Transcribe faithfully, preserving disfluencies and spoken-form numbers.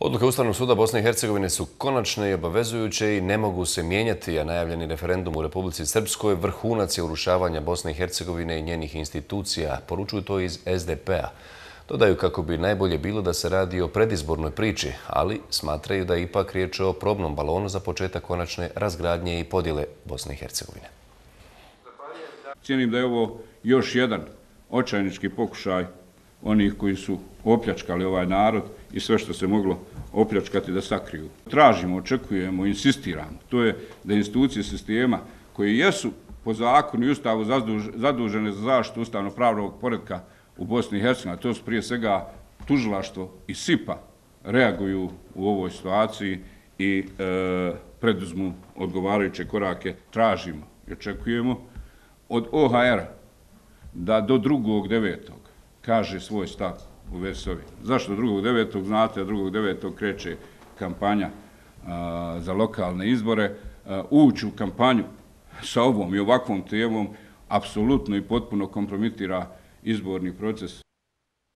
Odluke Ustavnog suda Bosne i Hercegovine su konačne i obavezujuće i ne mogu se mijenjati, a najavljeni referendum u Republici Srpskoj vrhunac je urušavanja Bosne i Hercegovine i njenih institucija, poručuju to iz S D P-a. Dodaju kako bi najbolje bilo da se radi o predizbornoj priči, ali smatraju da je ipak riječ o probnom balonu za početak konačne razgradnje i podjele Bosne i Hercegovine. Cijenim da je ovo još jedan očajnički pokušaj onih koji su opljačkali ovaj narod i sve što se moglo opljačkati da sakriju. Tražimo, očekujemo, insistiramo. To je da institucije sistema koje jesu po zakonu i ustavu zadužene za zaštitu ustavno-pravnog poretka u Bosni i Hercegovini, to su prije svega tužilaštvo i S I P A, reaguju u ovoj situaciji i e, preduzmu odgovarajuće korake. Tražimo i očekujemo od O H R-a da do drugog devetog kaže svoj stav u vezi s ovim. Zašto drugog devetog? Znate, drugog devetog kreće kampanja a, za lokalne izbore. A, ući u kampanju sa ovom i ovakvom temom apsolutno i potpuno kompromitira izborni proces